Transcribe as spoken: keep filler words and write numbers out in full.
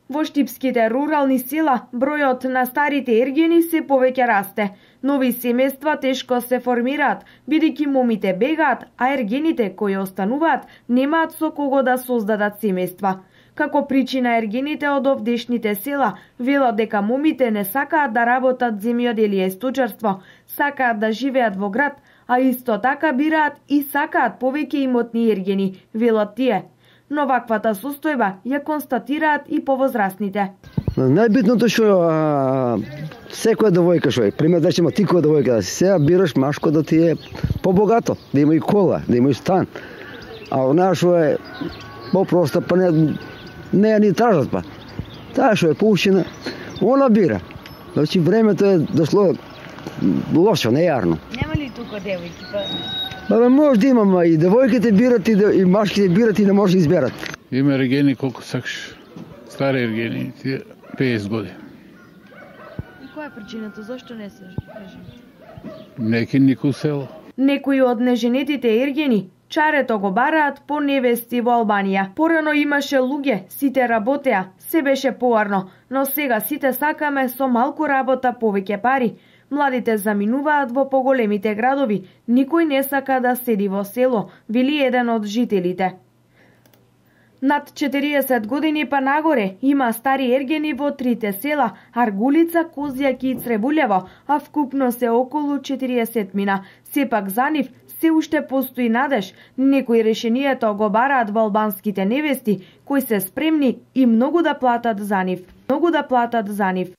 Во штипските рурални села, бројот на старите ергени се повеќе расте. Нови семејства тешко се формираат, бидејќи момите бегаат, а ергените кои остануваат немаат со кого да создадат семејства. Како причина ергените од овдешните села велат дека момите не сакаат да работат земјоделие и сточарство, сакаат да живеат во град, а исто така бираат и сакаат повеќе имотни ергени, велат тие. Но ваквата состојба ја констатираат и повозрастните. Најбитното што секоја девојка што е, пример да има ти која девојка да си сега бираш машко да ти е побогато, да има и кола, да има и стан. А она што е попроста, па не не ја ни тражат па. Таа што е поучена, она бира. Значи времето е дошло лошо, нејарно. Нема ли тука девојки па? Абе, може да имам и девојките бират и, и машките бират и не може да изберат. Има ергени колку сакаш. Стари ергени, тие петдесет години. И која е причината? Зошто не се женат? Неки никој село. Некои од неженетите ергени чарето го бараат по невести во Албанија. Порано имаше луѓе, сите работеа, се беше поарно, но сега сите сакаме со малку работа повеќе пари. Младите заминуваат во поголемите градови, никој не сака да седи во село, вели еден од жителите. Над четириесет години па нагоре има стари ергени во трите села Аргулица, Козјаки и Цребулево, а вкупно се околу четириесет мина. Сепак за нив се уште постои надеж. Некои решението го бараат во албанските невести, кои се спремни и многу да платат за нив. Многу да платат за нив.